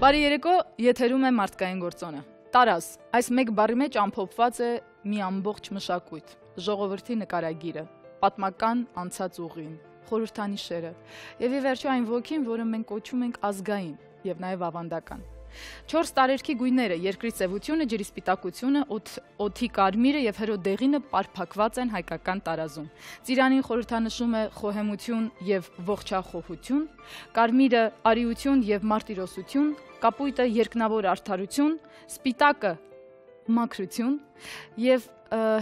Բարի երեկո, եթերում է մարդկային գործոնը։ Տարազ, այս մեկ բառի մեջ ամփոփված է մի ամբողջ մշակույթ, ժողովրդի նկարագիրը, պատմական անցած ուղին, խորհրդանիշերը եւ ի վերջո այն ոգին, որը մենք կոչում ենք ազգային եւ նաեւ ավանդական։ 4 տարերքի գույները, երկրի սևությունը, ջրի սպիտակությունը, օդի կարմիրը եւ հրոդեղինը պարփակված են հայկական տարազում։ Ծիրանին խորհրդանշում է խոհեմություն եւ ողջախոհություն, կարմիրը արիություն եւ մարտիրոսություն, կապույտը երկնավոր արդարություն, սպիտակը մաքրություն եւ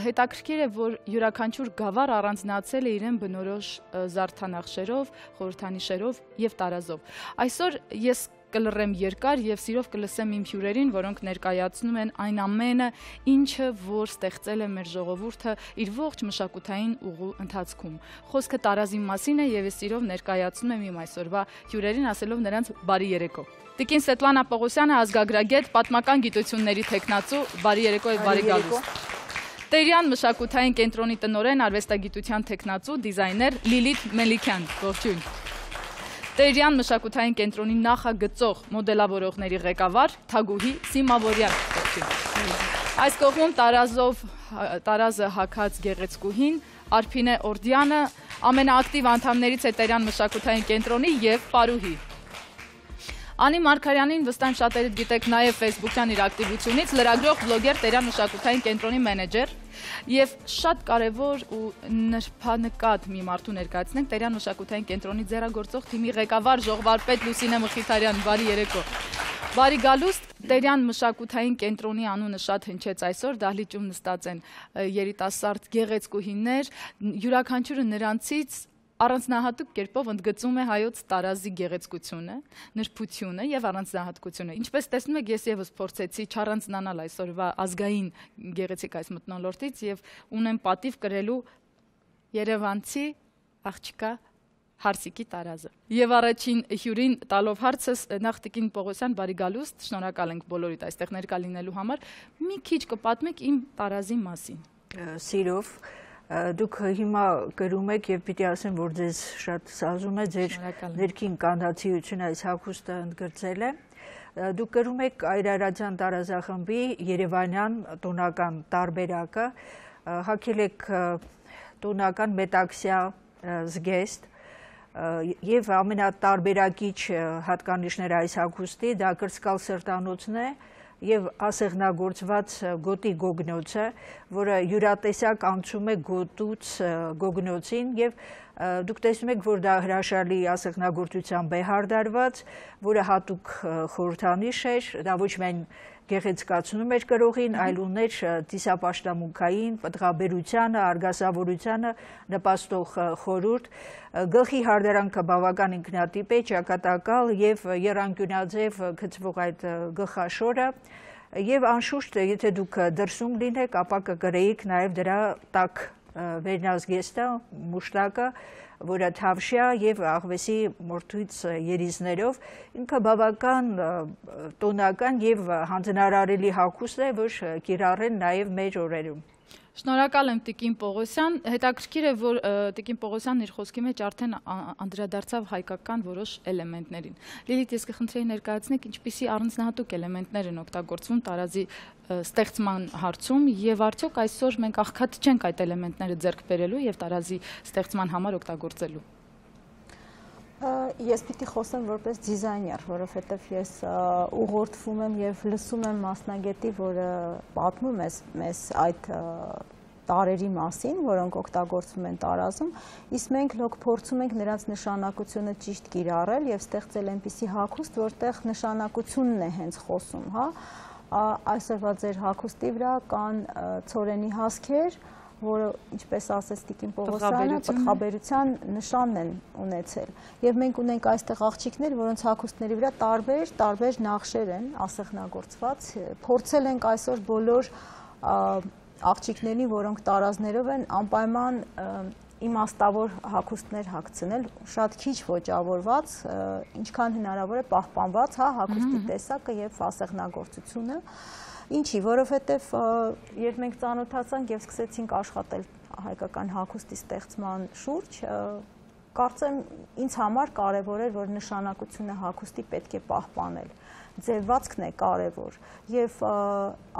հետաքրքիր է, որ յուրաքանչյուր գավառ առանձնացել է իրեն բնորոշ զարդանախշերով, խորհրդանիշերով եւ տարազով։ Այսօր ես կլռեմ երկար եւ սիրով կլսեմ իմ հյուրերին, որոնք ներկայացնում են այն ամենը, ինչը որ ստեղծել է մեր ժողովուրդը իր ողջ մշակութային ուղու ընթացքում։ Խոսքը տարազի մասին է եւ ես սիրով ներկայացնում եմ իմ այսօրվա հյուրերին, ասելով նրանց բարի երեկո։ Տիկին Սետլանա Պողոսյանը, ազգագրագետ, պատմական գիտությունների թեկնածու, բարի երեկո եւ բարի գալուստ։ Տերյան մշակութային կենտրոնի տնօրեն, արվեստագիտության թեկնածու, դիզայներ Լիլիթ Մելիքյան, ողջույն։ Տերյան մշակութային կենտրոնի նախագծող, մոդելավորողների ղեկավար Թագուհի Սիմավորյան, ողջույն։ Այս կողմում տարազը հագած գեղեցկուհին Արփինե Օրդյանը, ամենաակտիվ անդամներից է Տերյան մշակութային կենտրոնի եւ Պարուհի։ Անի Մարգարյանին վստահ շատերդ գիտեք նաև Facebook-յան իր ակտիվությունից, լրագրող, բլոգեր, Տերյան մշակութային կենտրոնի մենեջեր եւ շատ կարեւոր ու նրբանկատ մի մարդու ներկայացնենք Տերյան մշակութային կենտրոնի ձեռագործող թիմի ղեկավար ժողովարդպետ Լուսինե Մխիթարյան, բարի երեկո։ Բարի գալուստ, Տերյան մշակութային կենտրոնի անունը շատ հնչեց այսօր, դահլիճում նստած են երիտասարդ գեղեցկուհիներ, յուրաքանչյուրը նրանցից առանձնահատուկ կերպով ընդգծում է հայոց տարազի գեղեցկությունը, նրբությունը եւ առանձնահատկությունը։ Ինչպես տեսնում եք, ես եւս փորձեցի չառանձնանալ այսօրվա ազգային գեղեցիկ այս մթնոլորտից եւ ունեմ պատիվ կրելու երևանցի աղջկա Հարսիկի տարազը։ Եվ առաջին հյուրին տալով հարցս նախ Տիկին Պողոսյան, բարի գալուստ, շնորհակալ ենք բոլորիդ այստեղ ներկա լինելու համար։ Մի քիչ կպատմեք իմ տարազի մասին։ Սիրով Դուք հիմա գրում եք եւ պիտի ասեմ, որ ձեզ շատ սազում է ձեր ներքին կանացիությունը այս հագուստը ընդգրկել է։ Դուք գրում եք Այրարատյան տարազախմբի Երևանյան տոնական տարբերակը, հագել եք տոնական մետաքսյա զգեստ եւ ամենատարբերակիչ հատկանիշները այս հագուստի դա կրծքալ սրտանոցն է եւ ասեղնագործված գոտի գոգնոցը, որը յուրատեսակ անցում է գոտուց գոգնոցին եւ դուք տեսնում եք, որ դա հրաշալի ասեղնագործությամբ է հարդարված, որը հատուկ խորհրդանիշ էր, դա ոչ միայն գեղեցկացնում էր կրողին, այլ ուներ ծիսապաշտամունքային, պտղաբերությանը, արգասավորությանը նպաստող խորհուրդ, գլխի հարդարանքը բավական ինքնատիպ է, ճակատակալ եւ եռանկյունաձև գծվող այդ գլխաշորը եւ անշուշտ, եթե դուք դրսում լինեք, ապա կգրեիք նաեւ դրա տակ վերնազգեստը, մուշտակը, որը թավշյա եւ աղվեսի մորթույց երիզներով, ինքը բավական տոնական եւ հանձնարարելի հագուստ է, որ կիրառեն նաեւ մեր օրերում։ Շնորհակալ եմ Տիկին Պողոսյան, հետաքրքիր է, որ Տիկին Պողոսյանն իր խոսքի մեջ արդեն անդրադարձավ հայկական որոշ էլեմենտներին։ Լիլիթ, ես կխնդրեի ներկայացնեք, ինչպիսի առանձնահատուկ էլեմենտներ են օգտագործվում տարազի ստեղծման հարցում եւ արդյոք այսօր մենք աղքատ չենք այդ էլեմենտները ձեռք բերելու եւ տարազի ստեղծման համար օգտագործելու։ Ես պիտի խոսեմ որպես դիզայներ, որովհետև ես ուղղորդվում եմ եւ լսում եմ մասնագետի, որը պատմում է մեզ այդ տարերի մասին, որոնք օգտագործվում են տարազում, իսկ մենք լոկ փորձում ենք նրանց նշանակությունը ճիշտ կիրառել եւ ստեղծել այնպիսի հագուստ, որտեղ նշանակությունն է հենց խոսում, հա։ Այսօրվա ձեր հագուստի վրա կան ցորենի հասքեր, որը, ինչպես ասեց Տիկին Պողոսյանը, պտղաբերության նշանն են ունեցել։ Եվ մենք ունենք այստեղ աղջիկներ, որոնց հագուստների վրա տարբեր նախշեր են ասեղնագործված։ Փորձել ենք այսօր բոլոր աղջիկներին, որոնք տարազներով են, անպայման իմաստավոր հագուստներ հագցնել, շատ քիչ ոճավորված, ինչքան հնարավոր է պահպանված, հա, հագուստի տեսակը եւ ասեղնագործությունը։ Ինչի, որովհետև երբ մենք ծանոթացանք եւ սկսեցինք աշխատել հայկական հագուստի ստեղծման շուրջ, Կարծեմ ինձ համար կարևոր էր, որ նշանակությունը հագուստի պետք է պահպանել։ Ձևվածքն է կարևոր եւ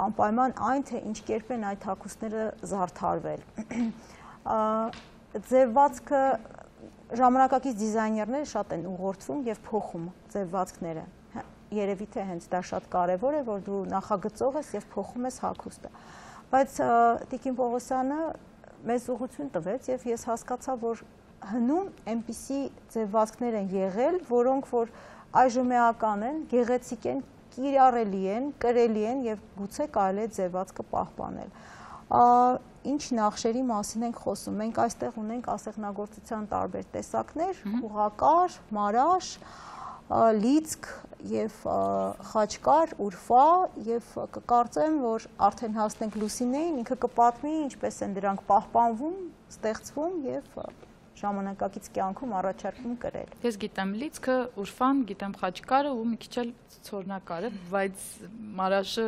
անպայման այն, թե ինչ կերպ են այդ հագուստները զարդարվել։ Ձևվածքը ժամանակակից դիզայներները շատ են ուղղորդվում եւ փոխում ձևվածքները։ Երևի թե հենց դա շատ կարևոր է, որ դու նախագծող ես եւ փոխում ես հագուստը։ Բայց Տիկին Պողոսյանը մեզ ուղղություն տվեց եւ ես հասկացա, որ հնում այնպիսի ձևվածքներ են եղել, որոնք որ այժմ էական են, գեղեցիկ են, կիրառելի են, կրելի են եւ գուցե կարելի է ձևվածքը պահպանել։ Ինչ նախշերի մասին ենք խոսում։ Մենք այստեղ ունենք ասեղնագործության տարբեր տեսակներ՝ ուղղակար, մարաշ, լիցք եւ խաչկար, ուրֆա եւ կկարծեմ, որ արդեն հասնենք Լուսինեին, ինքը կպատմի ինչպես են դրանք պահպանվում, ստեղծվում եւ ժամանակակից կյանքում առաջարկում կրել։ Ես գիտեմ լիցքը, ուրֆան, գիտեմ խաչկարը ու մի քիչ էլ ցորնակարը, բայց մարաշը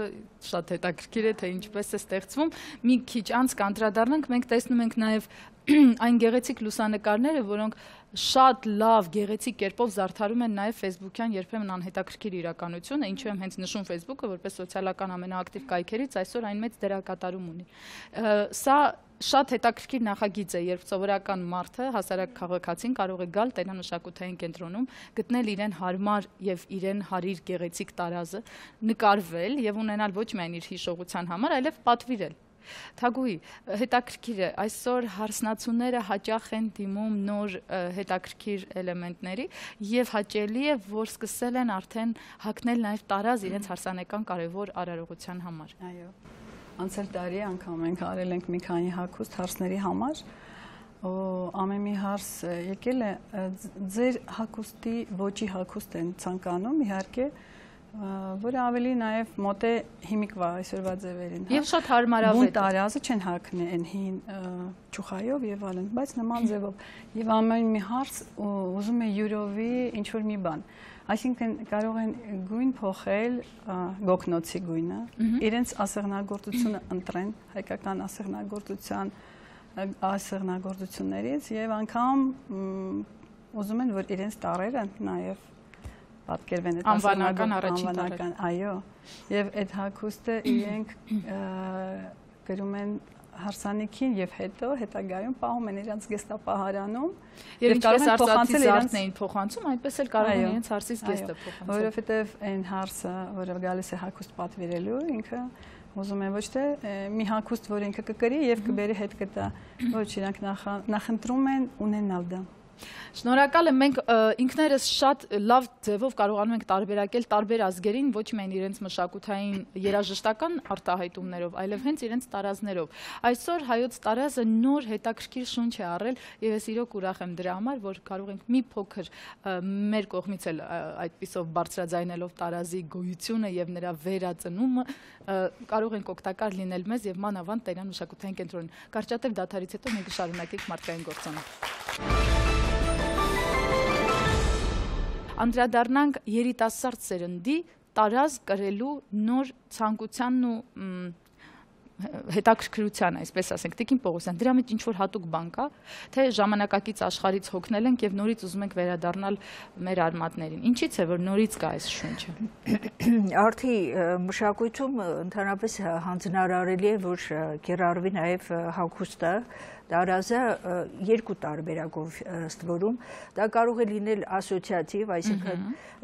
շատ հետաքրքիր է, թե ինչպես է ստեղծվում։ Մի քիչ անց կանդրադառնանք, մենք տեսնում ենք նաև այն գեղեցիկ լուսանկարները, որոնք շատ լավ գեղեցիկ կերպով զարդարում են նաև Facebook-յան երբեմն անհետաքրքիր իրականությունը, ինչու եմ հենց նշում Facebook-ը որպես սոցիալական ամենաակտիվ կայքերից, այսօր այն մեծ դերակատարում ունի։ Սա շատ հետաքրքիր նախագիծ է, երբ սովորական մարդը, հասարակ քաղաքացին կարող է գալ տենամշակութային կենտրոնում, գտնել իրեն հարմար եւ իրեն հարիր գեղեցիկ տարազը, նկարվել եւ ունենալ ոչ միայն իր հիշողության համար, այլև պատվիրել։ Թագուհի, հետաքրքիր է, այսօր հարսնացուները հաճախ են դիմում նոր հետաքրքիր էլեմենտների եւ հաճելի է, որ սկսել են արդեն հագնել նաեւ տարազ իրենց հարսանեկան կարևոր արարողության համար։ Այո։ Անցել տարի անգամ մենք արել ենք մի քանի հագուստ հարսների համար, ամեն մի հարս եկել է, ձեր հագուստի ոճի հագուստ են ցանկանում, իհարկե, որը ավելի նաև մոտ է հիմիկվա այսօրվա ձևերին։ Եվ շատ հարմարավետ։ Բուն տարազը չեն հագնել այն հին ճուխայով եւ այլն, բայց նման ձևով։ Եվ ամեն մի հարս ուզում է յուրովի ինչ-որ մի բան։ Այսինքն կարող են գույն փոխել գոգնոցի գույնը, իրենց ասեղնագործությունը ընտրեն, հայկական ասեղնագործություններից եւ անգամ ուզում են, որ իրենց տարերը նաեւ պատկերվեն այդ անվանական առաջին տարերը։ Այո, եւ այդ հագուստը իրենք գրում են հարսանիքին եւ հետո հետագայում պահում են իրենց գեստապահարանում եւ ինչպես արծաթի զարդն էին փոխանցում, այնպես էլ կարող են իրենց հարսից գեստը փոխանցել։ Որովհետեւ այն հարսը, որը գալիս է հագուստ պատվիրելու, ինքը ուզում է ոչ թե մի հագուստ, որ ինքը կկրի եւ կբերի հետ կտա, ոչ իրանք նախընտրում են ունենալ դա։ Շնորհակալ եմ, մենք ինքներս շատ լավ ձևով կարողանում ենք տարբերակել տարբեր ազգերին ոչ միայն իրենց մշակութային երաժշտական արտահայտումներով, այլև հենց իրենց տարազներով։ Այսօր հայոց տարազը նոր հետաքրքիր շունչ է առել եւ ես իրոք ուրախ եմ դրա համար, որ կարող ենք մի փոքր մեր կողմից էլ այդպիսով բարձրաձայնելով տարազի գոյությունը եւ նրա վերածնումը կարող ենք օգտակար լինել մեզ եւ մանավանդ Տերյան մշակութային կենտրոնին։ Կարճատև դադարից հետո մենք կշարունակենք մարդկային գործոնը։ Անդրադառնանք երիտասարդ սերնդի տարազ կրելու նոր ցանկությանն ու հետաքրքրության, այսպես ասենք, Տիկին Պողոսյան, դրա մեջ ինչ-որ հատուկ բան կա, թե ժամանակակից աշխարհից հոգնել ենք եւ նորից ուզում ենք վերադառնալ մեր արմատներին։ Ինչից է, որ նորից կա այս շունչը։ Արդի մշակույթում ընդհանրապես հանձնարարելի է, որ կիրառվի նաեւ հագուստը, տարազը երկու տարբերակով ըստ որում դա կարող է լինել ասոցիատիվ, այսինքն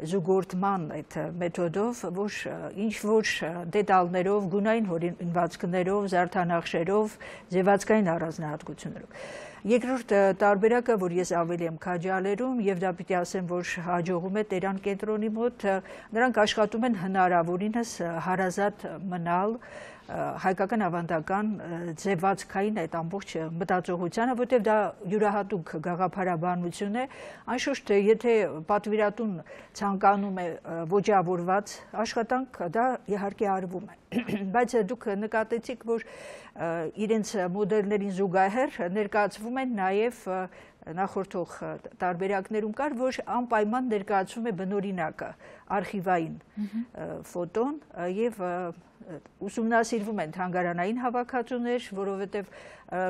զուգորդման այդ մեթոդով, որ ինչ որ դետալներով, գունային հորինվածքներով, զարդանախշերով, ձևացկային առանձնահատկություններով։ Երկրորդ տարբերակը, որ ես ավելի եմ քաջալերում եւ դա պիտի ասեմ, որ հաջողում է Տերյան կենտրոնի մոտ, նրանք աշխատում են հնարավորինս հարազատ մնալ հայկական ավանդական ձևացքային այդ ամբողջ մտածողությանը, որտեղ դա յուրահատուկ գաղափարաբանություն է, անշուշտ եթե պատվիրատուն ցանկանում է ոճավորված աշխատանք, դա իհարկե արվում է, բայց դուք նկատեցիք, որ իրենց մոդելներին զուգահեռ ներկայացվում են նաև նախորդող տարբերակներում կար, որ անպայման ներկայացում է բնօրինակը, արխիվային ֆոտոն եւ ուսումնասիրվում են թանգարանային հավաքածուներ, որովհետեւ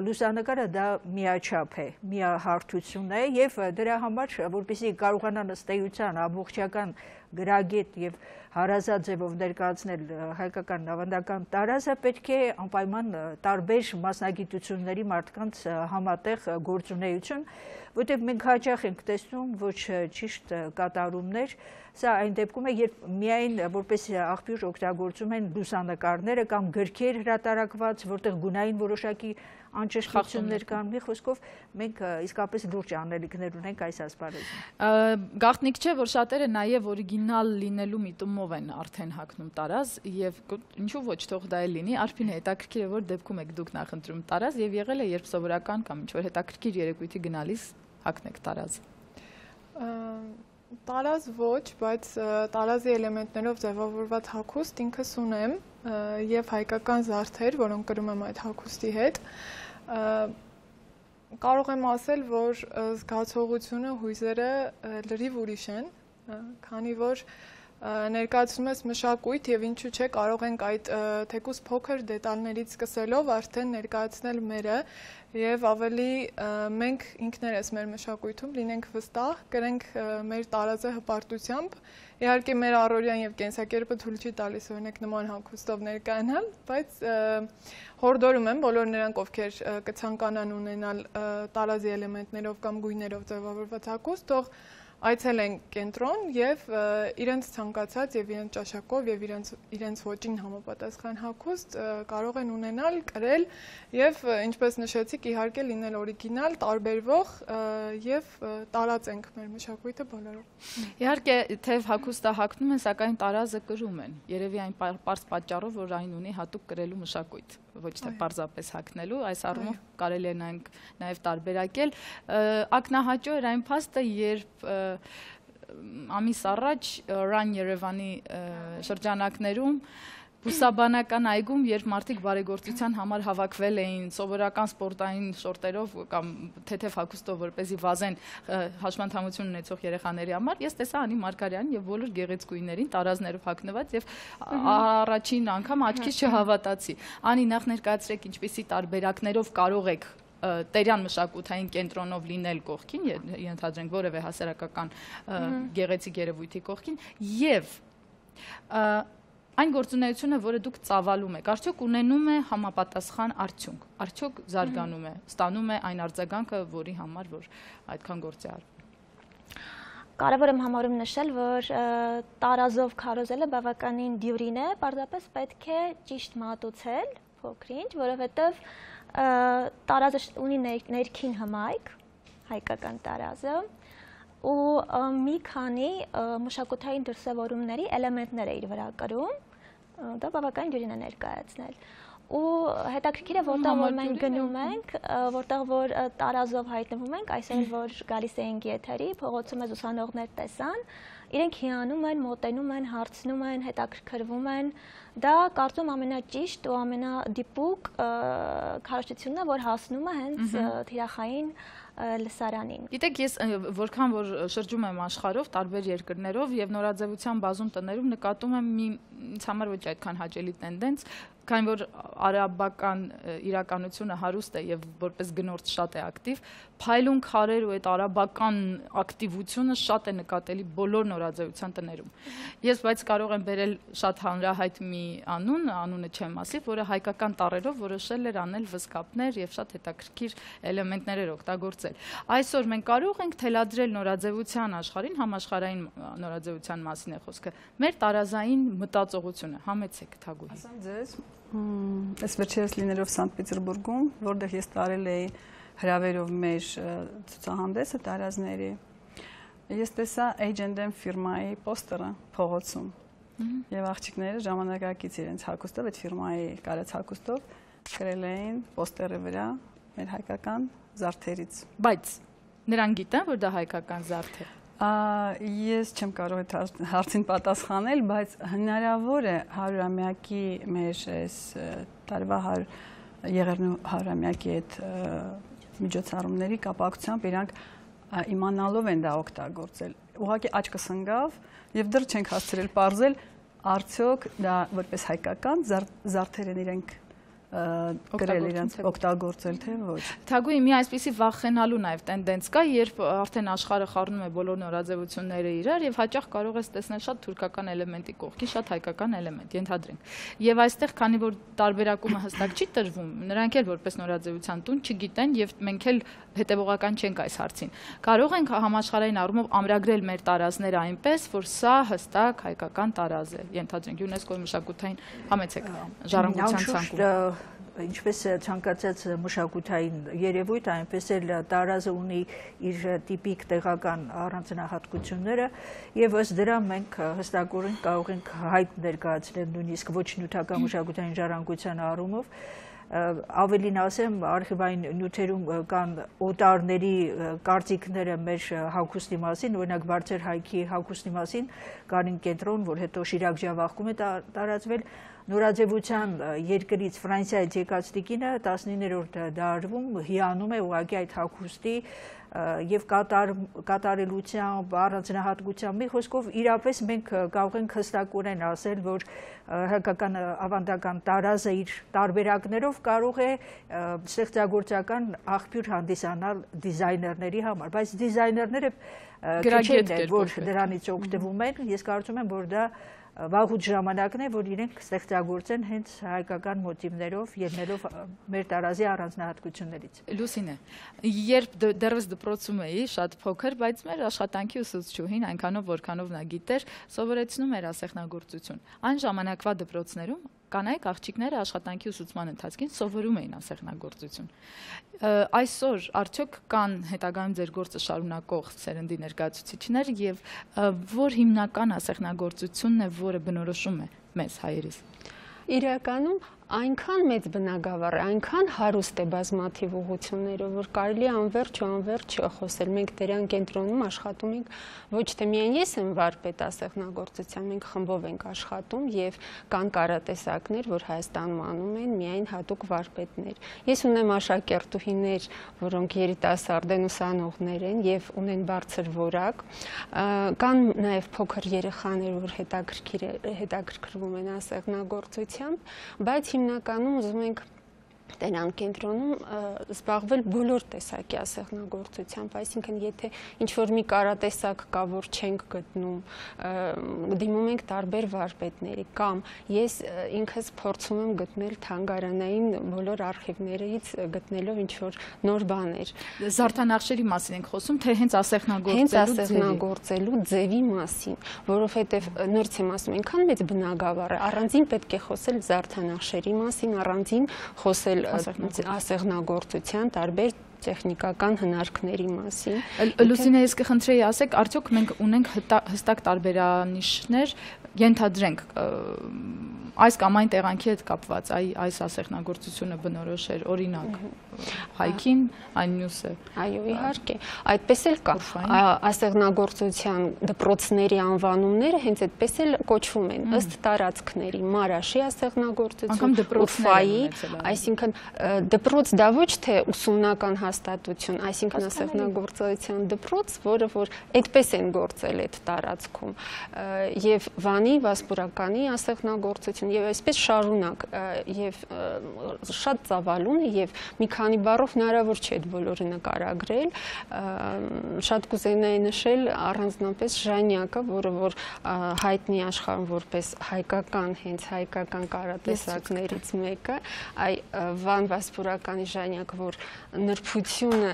լուսանկարը դա միաչափ է, միահարթություն է եւ դրա համար, որպեսզի կարողանան ըստ էության ամբողջական գրագետ եւ հարազատ ձևով ներկայացնել հայկական ավանդական տարազը, պետք է անպայման տարբեր մասնագիտությունների մարդկանց համատեղ գործունեություն, որտեղ մենք հաճախ ենք տեսնում ոչ ճիշտ կատարումներ, սա այն դեպքում է, երբ միայն որպես աղբյուր օգտագործում են լուսանկարները կամ գրքեր հրատարակված, որտեղ գունային որոշակի անճշտություններ կան, մի խոսքով մենք իսկապես լուրջ անելիքներ ունենք այս ասպարեզում։ Գաղտնիք չէ, որ շատերը նաև օրիգինալ լինելու միտումով են արդեն հագնում տարազ եւ ինչու ոչ թող դա էլ լինի, Արփին հետաքրքիր է, որ դեպքում եք դուք նախընտրում տարազ եւ եղել է, երբ սովորական կամ ինչ-որ հետաքրքիր երեկույթի գնալիս հագնեք տարազ։ Տարազ ոչ, բայց տարազի էլեմենտներով ձևավորված հագուստ ինքս ունեմ եւ հայկական զարդեր, որոնք կրում եմ այդ հագուստի հետ։ Կարող եմ ասել, որ զգացողությունը, հույզերը լրիվ ուրիշ են, քանի որ ներկայացնում ես մշակույթ եւ ինչու՞ չէ կարող ենք այդ թեկուզ փոքր դետալներից սկսելով արդեն ներկայացնել մերը եւ ավելի մենք ինքներս մեր մշակույթում լինենք վստահ, կրենք մեր տարազը հպարտությամբ, իհարկե մեր առօրյան եւ կենսակերպը թույլ չի տալիս օրինակ նման հագուստով ներկայանալ, բայց հորդորում եմ բոլոր նրանք, ովքեր կցանկանան ունենալ տարազի էլեմենտներով կամ գույներով ձևավորված հագուստ, թող այցելեն կենտրոն եւ իրենց ցանկացած եւ իրենց ճաշակով եւ իրենց ոճին համապատասխան հագուստ կարող են ունենալ, կրել եւ ինչպես նշեցիք, իհարկե լինել օրիգինալ, տարբերվող եւ տարածենք մեր մշակույթը բոլորով։ Իհարկե, թեև հագուստը հագնում են, սակայն տարազը կրում են։ Երևի այն պարզ պատճառով, որ այն ունի հատուկ կրելու մշակույթ, ոչ թե պարզապես հագնելու, այս առումով կարելի է նաեւ տարբերակել։ Ակնահաճո էր այն փաստը, երբ ամիս առաջ Run Երևանի շրջանակներում Բուսաբանական այգում, երբ մարդիկ բարեգործության համար հավաքվել էին սովորական սպորտային շորտերով կամ թեթև հագուստով, որպեսզի վազեն հաշմանդամություն ունեցող երեխաների համար, ես տեսա Անի Մարգարյանին եւ բոլոր գեղեցկուհիներին տարազներով հագնված եւ առաջին անգամ աչքիս չհավատացի։ Անի, նախ ներկայացրեք ինչպիսի տարբերակներով կարող եք Տերյան մշակութային կենտրոնով լինել կողքին, ենթադրենք որևէ հասարակական գեղեցիկ երևույթի կողքին եւ այն գործունեությունը, որը դուք ծավալում եք, արդյոք ունենում է համապատասխան արդյունք, արդյոք զարգանում է, ստանում է այն արձագանքը, որի համար որ այդքան գործ է արվում։ Կարևոր եմ համարում նշել, որ տարազով քարոզելը բավականին դյուրին է, պարզապես պետք է ճիշտ մատուցել փոքրինչ, որովհետև տարազը ունի ներքին հմայք, հայկական տարազը, ու մի քանի մշակութային դրսևորումների էլեմենտներ է իր վրա կրում, դա բավականին դյուրին է ներկայացնել։ Ու հետաքրքիր է, որտեղ որ մենք գնում ենք, որտեղ որ տարազով հայտնվում ենք, այսօր որ գալիս էինք եթերի, փողոցում է ուսանողներ տեսան, իրենք հիանում են, մոտենում են, հարցնում են, հետաքրքրվում են, դա կարծում ամենաճիշտ ու ամենադիպուկ քարոզչությունն է, որ հասնում է հենց թիրախային լսարանին։ Գիտեք, ես որքան որ շրջում եմ աշխարհով, տարբեր երկրներով եւ նորաձևության բազում տներում նկատում եմ մի ինձ համար ոչ այդքան հաճելի տենդենց, քանի որ արաբական իրականությունը հարուստ է եւ որպես գնորդ շատ է ակտիվ, փայլուն քարեր ու այդ արաբական ակտիվությունը շատ է նկատելի բոլոր նորաձևության տներում։ Ես բայց կարող եմ բերել շատ հանրահայտ մի անունը չեմ ասի, որը հայկական տառերով որոշել էր անել վզկապներ եւ շատ հետաքրքիր էլեմենտներ էր օգտագործել։ Այսօր մենք կարող ենք թելադրել նորաձևության աշխարհին, համաշխարհային նորաձևության մասին է խոսքը, մեր տարազային մտածողությունը, համեցեք Թագուհի։ Ասեմ ձեզ, ես վերջերս լինելով Սանտ Պետերբուրգում, որտեղ ես տարել էի հրավերով մեր ցուցահանդեսը տարազների, ես տեսա H&M ֆիրմայի պոստերը փողոցում եւ աղջիկները ժամանակակից իրենց հագուստով, այդ ֆիրմայի կարած հագուստով գրել էին պոստերի վրա մեր հայկական զարդերից։ Բայց նրանք գիտեն, որ դա հայկական զարդ է։ Ես չեմ կարող այդ հարցին պատասխանել, բայց հնարավոր է 100-ամյակի մեր այս տարվա եղերնու 100-ամյակի այդ միջոցառումների կապակցությամբ իրանք իմանալով են դա օգտագործել։ Ուղղակի աչքս ընկավ եւ դեռ չենք հասցրել պարզել արդյոք դա որպես հայկական զարդեր են իրենք գրել իրենց օգտագործել թե ոչ։ Թագուհի մի այսպիսի վախենալու նաև տենդենց կա, երբ արդեն աշխարհը խառնում է բոլոր նորաձևությունները իրար եւ հաճախ կարող ես տեսնել շատ թուրքական էլեմենտի կողքին շատ հայկական էլեմենտ, ենթադրենք։ Եվ այստեղ, քանի որ տարբերակումը հստակ չի տրվում, նրանք էլ որպես նորաձևության տուն չգիտեն եւ մենք էլ հետեւողական չենք այս հարցին։ Կարող ենք համաշխարհային առումով ամրագրել մեր տարազները այնպես, որ սա հստակ հայկական տարազ է, ենթադրենք ՅՈՒՆԵՍԿՕ-ի մշակութային համեցեք ժառանգության ցանկում։ Ինչպես ցանկացած մշակութային երևույթ, այնպես էլ տարազը ունի իր տիպիկ տեղական առանձնահատկությունները եւ ըստ դրա մենք հստակորեն կարող ենք հայտ ներկայացնել նույնիսկ ոչ նյութական մշակութային ժառանգության առումով։ Ավելին ասեմ, արխիվային նյութերում կան օտարների կարծիքները մեր հագուստի մասին, օրինակ Բարձր հայքի հագուստի մասին, Կարին կենտրոն, որ հետո Շիրակ ջավախքում է տարածվել, նորաձևության երկրից Ֆրանսիայից եկած տիկինը 19-րդ դարում հիանում է ուղղակի այդ հագուստի եւ կատարելությամբ, առանձնահատկությամբ, մի խոսքով իրապես մենք կարող ենք հստակորեն ասել, որ հայկական ավանդական տարազը իր տարբերակներով կարող է ստեղծագործական աղբյուր հանդիսանալ դիզայներների համար, բայց դիզայներները քիչ են, որ դրանից օգտվում են, ես կարծում եմ, որ դա վաղուց ժամանակն է, որ իրենք ստեղծագործեն հենց հայկական մոտիվներով, ելնելով մեր տարազի առանձնահատկություններից։ Լուսինե, երբ դեռևս դպրոցում էի, շատ փոքր, բայց մեր աշխատանքի ուսուցչուհին, այնքանով որքանով նա գիտեր, սովորեցնում էր ասեղնագործություն։ Այն ժամանակվա դպրոցներում կանայք աղջիկները աշխատանքի ուսուցման ընթացքին սովորում էին ասեղնագործություն։ Այսօր արդյոք կան հետագայում ձեր գործը շարունակող սերնդի ներկայացուցիչներ եւ որ հիմնական ասեղնագործությունն է, որը բնորոշում է մեզ հայերիս։ Իրականում այնքան մեծ բնագավառ է, այնքան հարուստ է բազմաթիվ ուղղություններով, որ կարելի է անվերջ ու անվերջ խոսել։ Մենք դրան կենտրոնում աշխատում ենք, ոչ թե միայն ես եմ վարպետ ասեղնագործության, մենք խմբով ենք աշխատում եւ կան կարատեսակներ, որ Հայաստանում անում են միայն հատուկ վարպետներ։ Ես ունեմ աշակերտուհիներ, որոնք երիտասարդ են, ուսանողներ են եւ ունեն բարձր որակ։ Կան նաեւ փոքր երեխաներ, որ հետաքրքրվում են ասեղնագործությամբ, բայց հիմնականում ուզում ենք Տենան կենտրոնում զբաղվել բոլոր տեսակի ասեղնագործությամբ, այսինքն եթե ինչ-որ մի կարատեսակ կա, որ չենք գտնում, դիմում ենք տարբեր վարպետների, կամ ես ինքս փորձում եմ գտնել թանգարանային բոլոր արխիվներից գտնելով ինչ-որ նոր բաներ։ Զարդանախշերի մասին ենք խոսում, թե հենց ասեղնագործելու ձևի մասին, որովհետև նորից եմ ասում, այնքան մեծ բնագավառ է, առանձին պետք է խոսել զարդանախշերի մասին, առանձին խոսել ասեղնագործության տարբեր տեխնիկական հնարքների մասին։ Լուսինե, ես կխնդրեի ասեք, արդյոք մենք ունենք հստակ տարբերանիշներ, ենթադրենք այս կամ այն տեղանքի հետ կապված, այս ասեղնագործությունը բնորոշ էր, օրինակ հայքին, այն մյուսը։ Այո, իհարկե, այդպես էլ կա։ Ասեղնագործության դպրոցների անվանումները հենց այդպես էլ կոչվում են, ըստ տարածքների, Մարաշի ասեղնագործություն, Ուֆայի, այսինքն դպրոց դա ոչ թե ուսումնական հաստատություն, այսինքն ասեղնագործության դպրոց, որը որ այդպես են գործել այդ տարածքում, եւ Վանի, Վասպուրականի ասեղնագործություն եւ այսպես շարունակ եւ շատ ծավալուն է եւ մի քանի բառով հնարավոր չէ այդ բոլորը նկարագրել, շատ կուզենայի նշել առանձնապես Ժանյակը, որը որ հայտնի աշխարհում որպես հայկական, հենց հայկական կարատեսակներից մեկը, Վան Վասպուրականի Ժանյակը, որ նրբությունը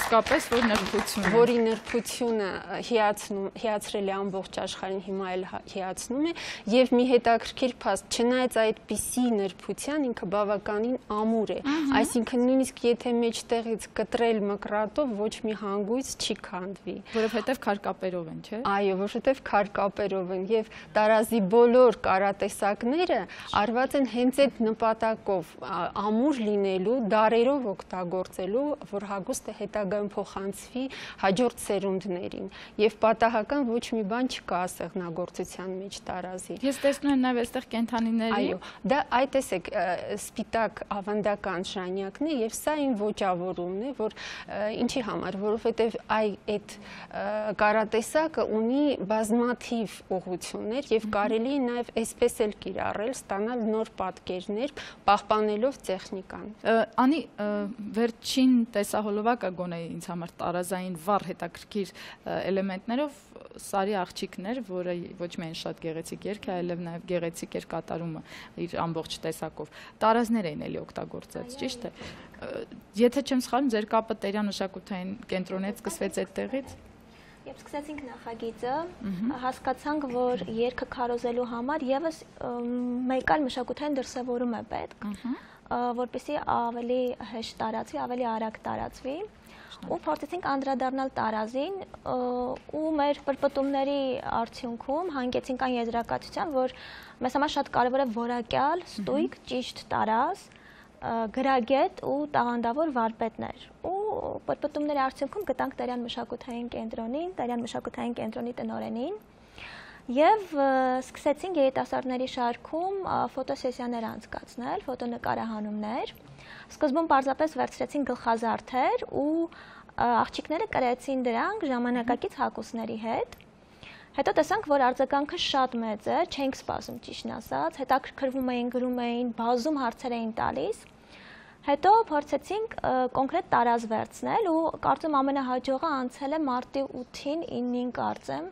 իսկապես որ նրբությունը, որի նրբությունը հիացրել է ամբողջ աշխարհին, հիմա էլ հիացնում է եւ մի հետաքրքիր փաստ, չնայած այդպիսի նրբության ինքը բավականին ամուր է, այսինքն նույնիսկ եթե մեջտեղից կտրել մկրատով ոչ մի հանգույց չի քանդվի, որովհետեւ քարկապերով են, չէ՞։ Այո, որովհետեւ քարկապերով են եւ տարազի բոլոր կարատեսակները արված են հենց այդ նպատակով ամուր լինելու, դարերով օգտագործելու, որ հագուստը հետագայում հետագայում փոխանցվի հաջորդ սերունդներին եւ պատահական ոչ մի բան չկա ասեղնագործության մեջ տարազի։ Ես տեսնում եմ նաեւ այստեղ կենթանիների։ Այո, դա այդ տեսեք սպիտակ ավանդական ժանյակն է եւ սա իմ ոճավորումն է, որ ինչի համար, որովհետեւ այդ կարատեսակը ունի բազմաթիվ ուղղություններ եւ կարելի է նաեւ այսպես էլ կիրառել, ստանալ նոր պատկերներ, պահպանելով տեխնիկան։ Անի վերջին տեսահոլովակը գոնե ինձ համար տարազային վառ հետաքրքիր էլեմենտներով Սարի աղջիկներ, որը ոչ միայն շատ գեղեցիկ երգ է, այլև նաև գեղեցիկ էր կատարումը իր ամբողջ տեսակով։ Տարազներ էին էլի օգտագործած, ճիշտ է։ Եթե չեմ սխալվում, ձեր կապը Տերյան մշակութային կենտրոնից սկսվեց այդտեղից։ Երբ սկսեցինք նախագիծը, հասկացանք, որ երգը քարոզելու համար եւս մեկ այլ մշակութային դրսևորում է պետք, որպեսզի ավելի հեշտ տարածվի, ավելի արագ տարածվի, ու փորձեցինք անդրադառնալ տարազին, ու մեր պրպտումների արդյունքում հանգեցինք այն եզրակացության, որ մեզ համար շատ կարևոր է որակյալ, ստույգ, ճիշտ տարազ, գրագետ ու տաղանդավոր վարպետներ։ Ու պրպտումների արդյունքում գտանք Տերյան մշակութային կենտրոնին, Տերյան մշակութային կենտրոնի տնօրենին եւ սկսեցինք երիտասարդների շարքում ֆոտոսեսիաներ անցկացնել, ֆոտոնկարահանումներ։ Սկզբում պարզապես վերցրեցին գլխազարդեր ու աղջիկները կրեցին դրանք ժամանակակից հագուստների հետ։ Հետո տեսանք, որ արձագանքը շատ մեծ է, չենք սպասում ճիշտն ասած, հետաքրքրվում էին, գրում էին, բազում հարցեր էին տալիս։ Հետո փորձեցինք կոնկրետ տարազ վերցնել ու կարծում ամենահաջողը անցել է մարտի 8-ին 9-ին կարծեմ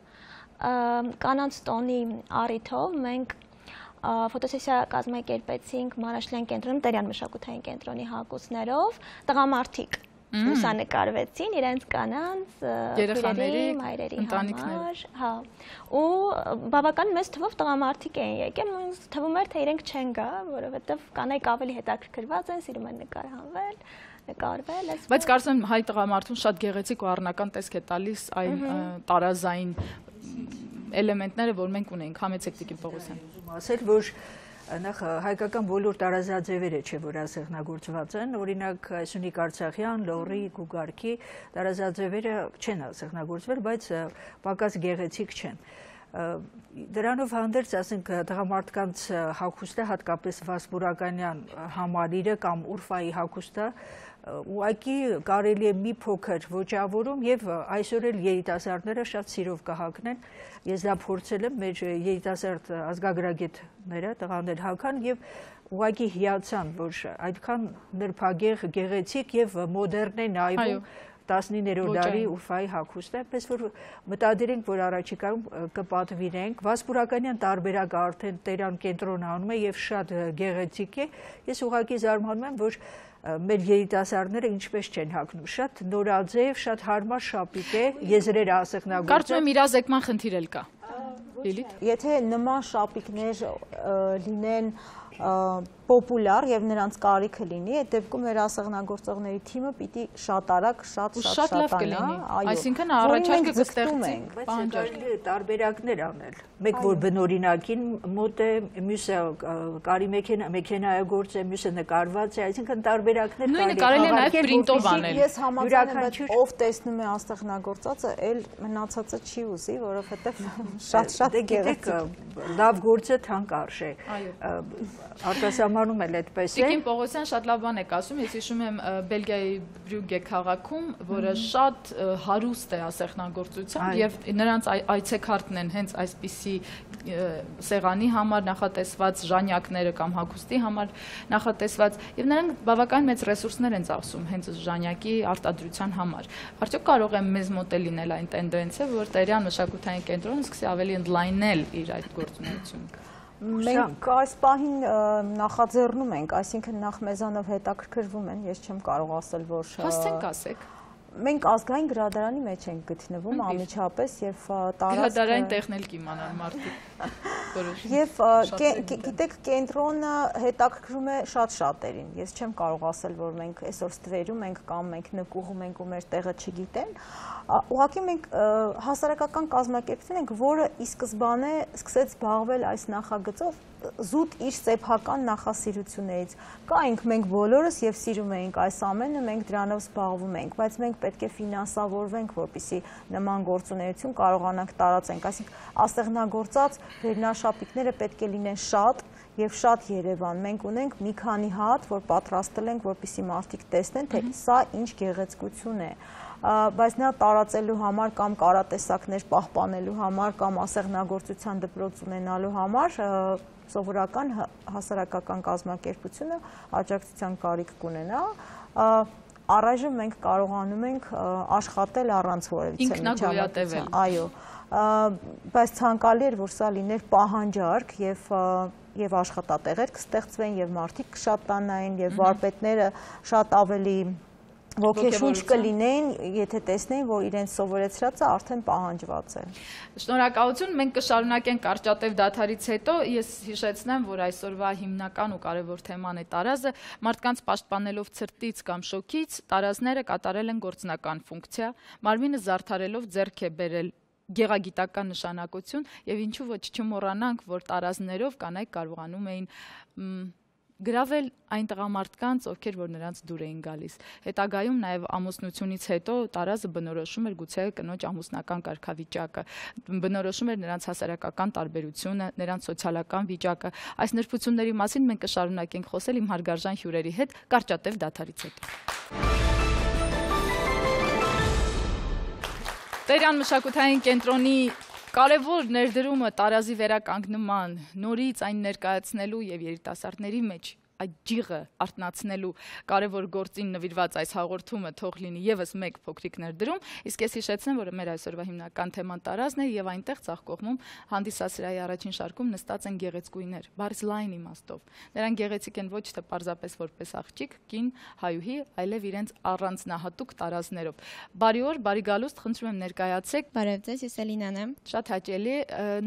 կանանց տոնի առիթով մենք ֆոտոսեսիա կազմակերպեցինք Մանաշլյան կենտրոնում Տերյան մշակութային կենտրոնի հագուստներով, տղամարդիկ լուսանկարվեցին իրենց կանանց, երեխաների, մայրերի համար, հա, ու բավական մեծ թվով տղամարդիկ էին եկել, ինձ թվում էր, թե իրենք չեն գա, որովհետև կանայք ավելի հետաքրքրված են, սիրում են նկարահանվել, նկարվել, բայց կարծում եմ հայ տղամարդուն շատ գեղեցիկ ու առնական տեսք է տալիս այն տարազային էլեմենտները, որ մենք ունենք, համեցեք Տիկին Պողոսյան։ Ասել, որ նախ հայկական բոլոր տարազաձևերը չէ, որ ասեղնագործված են, օրինակ Սյունիք Արցախյան, Լոռի, Գուգարքի տարազաձևերը չեն ասեղնագործվել, բայց պակաս գեղեցիկ չեն։ Դրանով հանդերձ, ասենք, տղամարդկանց հագուստը, հատկապես Վասպուրականյան համալիրը կամ Ուրֆայի հագուստը, ուղղակի կարելի է մի փոքր ոճավորում եւ այսօր էլ երիտասարդները շատ սիրով կհագնեն։ Ես դա փորձել եմ, մեր երիտասարդ ազգագրագետները տղաներ հագան եւ ուղղակի հիացան, որ այդքան նրբագեղ, գեղեցիկ եւ մոդեռն է նայվում 19-րդ դարի Ուրֆայի հագուստը, այնպես որ մտադիր ենք, որ առաջիկայում կպատվիրենք։ Վասպուրականյան տարբերակը արդեն Տերյան կենտրոնը անում է եւ շատ գեղեցիկ է։ Ես ուղղակի զարմանում եմ, որ մեր երիտասարդները ինչպես չեն հագնում, շատ նորաձև, շատ հարմար շապիկ է, եզրերը ասեղնագործած։ Կարծում եմ իրազեկման խնդիր էլ կա։ Եթե նման շապիկներ լինեն պոպուլար եւ նրանց կարիքը լինի, այդ դեպքում մեր ասեղնագործողների թիմը պիտի շատ արագ, շատ լավ կլինի։ Այսինքն առաջարկը կստեղծի պահանջարկի տարբերակներ անել։ Մեկ որ բնօրինակին մոտ է, մյուսը կարի մեքենայագործ է, մյուսը նկարված է, այսինքն տարբերակներ նույնը կարելի է նաեւ պրինտով անել։ Ես համաձայն եմ, ով տեսնում է ասեղնագործածը, էլ մնացածը չի ուզի, որովհետեւ շատ գեղեցիկ է։ Լավ գործը թանկ արժե։ Արտասահմանում էլ այդպես է։ Տիկին Պողոսյան շատ լավ բան եք ասում, ես հիշում եմ Բելգիայի Բրյուգե քաղաքում, որը շատ հարուստ է ասեղնագործությամբ եւ նրանց այցեքարտն են հենց այսպիսի սեղանի համար նախատեսված, ժանյակները կամ հագուստի համար նախատեսված եւ նրանք բավական մեծ ռեսուրսներ են ծախսում հենց ժանյակի արտադրության համար։ Արդյոք կարող է մեզ մոտ լինել այն տենդենսը, որ Տերյան մշակութային կենտրոնը սկսի ավելի ընդլայնել իր այդ գործունեությունը։ Մենք այս պահին նախաձեռնում ենք, այսինքն նախ մեզանով հետաքրքրվում են, ես չեմ կարող ասել, որ Հասցենք ասեք։ Մենք ազգային գրադարանի մեջ ենք գտնվում անմիջապես եւ տարածքը գրադարային տեխնել կիմանան մարդիկ։ Եվ գիտեք, կենտրոնը հետաքրքրում է շատ շատերին։ Ես չեմ կարող ասել, որ մենք այսօր ստվերում ենք կամ մենք նկուղում ենք ու մեր տեղը չգիտեն։ Ուղղակի մենք հասարակական կազմակերպություն ենք, որը ի սկզբանե սկսեց զբաղվել այս նախագծով զուտ իր սեփական նախասիրություններից։ Կայինք մենք բոլորս եւ սիրում էինք այս ամենը, մենք դրանով զբաղվում ենք, բայց մենք պետք է ֆինանսավորվենք, որպեսզի նման գործունեություն կարողանանք տարածենք։ Այսինքն ասեղնագործած վերնաշապիկները պետք է լինեն շատ եւ շատ Երևան։ Մենք ունենք մի քանի հատ, որ պատրաստել ենք, որպեսզի մարդիկ տեսնեն, թե սա ինչ գեղեցկություն է։ Բայց նա տարածելու համար կամ կարատեսակներ պահպանելու համար կամ ասեղնագործության դպրոց ունենալու համար սովորական հասարակական կազմակերպությունը աջակցության կարիք կունենա։ Առայժմ մենք կարողանում ենք աշխատել առանց որևիցե միջամտության։ Այո, բայց ցանկալի էր, որ սա լիներ պահանջարկ եւ աշխատատեղեր կստեղծվեն եւ մարդիկ կշատանային եւ վարպետները շատ ավելի ոգեշունչ կլինեին, եթե տեսնեին, որ իրենց սովորեցրածը արդեն պահանջված է։ Շնորհակալություն, մենք կշարունակենք կարճատև դադարից հետո, ես հիշեցնեմ, որ այսօրվա հիմնական ու կարևոր թեման է տարազը, մարդկանց պաշտպանելով ցրտից կամ շոկից, տարազները կատարել են գործնական ֆունկցիա, մարմինը զարդարելով ձեռք է բերել գեղագիտական նշանակություն եւ ինչու ոչ չմոռանանք, որ տարազներով կանայք կարողանում էին գրավել այն տղամարդկանց, ովքեր որ նրանց դուր էին գալիս։ Հետագայում նաև ամուսնությունից հետո տարազը բնորոշում էր գուցե կնոջ ամուսնական կարգավիճակը, բնորոշում էր նրանց հասարակական տարբերությունը, նրանց սոցիալական վիճակը։ Այս նրբությունների մասին մենք կշարունակենք խոսել իմ հարգարժան հյուրերի հետ կարճատև դադարից հետո։ Տերյան մշակութային կենտրոնի կարևոր ներդրումը տարազի վերականգնման, նորից այն ներկայացնելու եւ երիտասարդների մեջ այդ ջիղը արտնացնելու կարևոր գործին նվիրված այս հաղորդումը թող լինի եւս մեկ փոքրիկ ներդրում, իսկ ես հիշեցնեմ, որ մեր այսօրվա հիմնական թեման տարազն է եւ այնտեղ ցախ կողմում հանդիսասրահի առաջին շարքում նստած են գեղեցկույներ, բարձ լայն իմաստով։ Նրանք գեղեցիկ են ոչ թե պարզապես որպես աղջիկ, կին, հայուհի, այլև իրենց առանձնահատուկ տարազներով։ Բարի օր, բարի գալուստ, խնդրում եմ ներկայացեք։ Բարև ձեզ, ես Էլինան եմ։ Շատ հաճելի,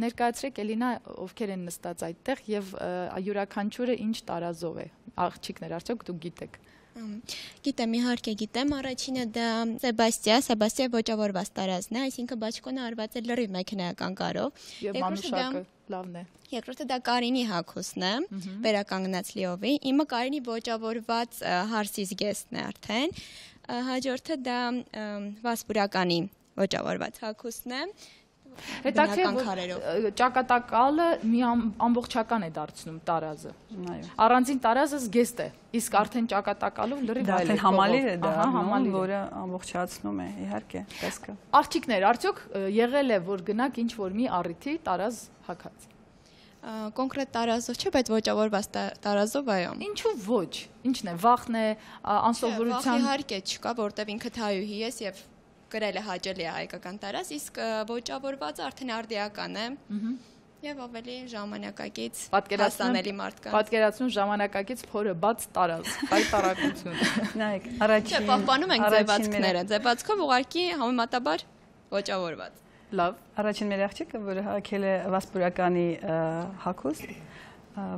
ներկայացրեք Էլինա, ովքեր են նստած այդտեղ եւ յուրաքանչյուրը ինչ տարազով աղջիկներ, արդյոք դուք գիտեք։ Գիտեմ, իհարկե գիտեմ, առաջինը դա Սեբաստիա ոճավորված տարազն է, այսինքն բաճկոնը արված է լրիվ մեքենայական կարով։ Եվ մանուշակը լավն է։ Երկրորդը դա Կարինի հագուստն է, վերականգնած լիովի։ Իմը Կարինի ոճավորված հարսի զգեստն է արդեն։ Հաջորդը դա Վասպուրականի ոճավորված հագուստն է։ Հետաքրքիր ճակատակալը մի ամբողջական է դարձնում տարազը։ Առանձին տարազը զգեստ է, իսկ արդեն ճակատակալով լրիվ այլ է։ Արդեն համալիր է դա, որը ամբողջացնում է, իհարկե, տեսքը։ Աղջիկներ, արդյոք եղել է, որ գնաք ինչ որ մի առիթի տարազ հագած։ Կոնկրետ տարազով չէ, բայց ոճավորված տարազով այո։ Ինչու ոչ։ Ինչն է, վախն է, անսովորության։ Վախ իհարկե չկա, որտեվ ինքը հայուհի է եւ գրել է հաճելի հայկական տարազ, իսկ ոճավորվածը արդեն արդիական է եւ ավելի ժամանակակից հասանելի մարդկանց։ Պատկերացնում ժամանակակից փորը բաց տարազ, պայտարակություն։ Նայեք, առաջին պահպանում ենք ձևացքները, ձևացքով ուղղակի համեմատաբար ոճավորված։ Լավ, առաջին մեր աղջիկը, որը հագել է Վասպուրականի հագուստ,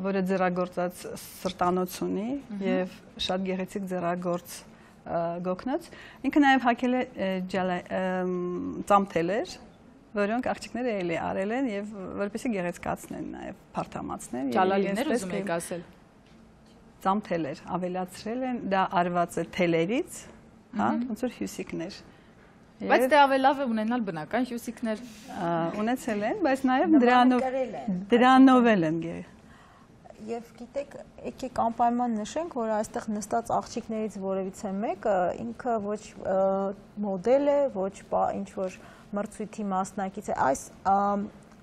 որը ձեռագործած սրտանոց ունի եւ շատ գեղեցիկ ձեռագործ գոքնոց, ինքը նաև հագել է ծամթելեր, որոնք աղջիկները էլի արել են եւ որպեսզի գեղեցկացնեն նաև փարթամացնեն։ Ջալալիներ ուզում եք ասել։ Ծամթելեր ավելացրել են, դա արված է թելերից, հա, ոնց որ հյուսիկներ։ Բայց դե ավելի լավ է ունենալ բնական հյուսիկներ։ Ունեցել են, բայց նաև դրանով են գեր։ Եվ գիտեք, եկեք անպայման նշենք, որ այստեղ նստած աղջիկներից որևիցե մեկը ինքը ոչ մոդել է, ոչ ինչ-որ մրցույթի մասնակից է,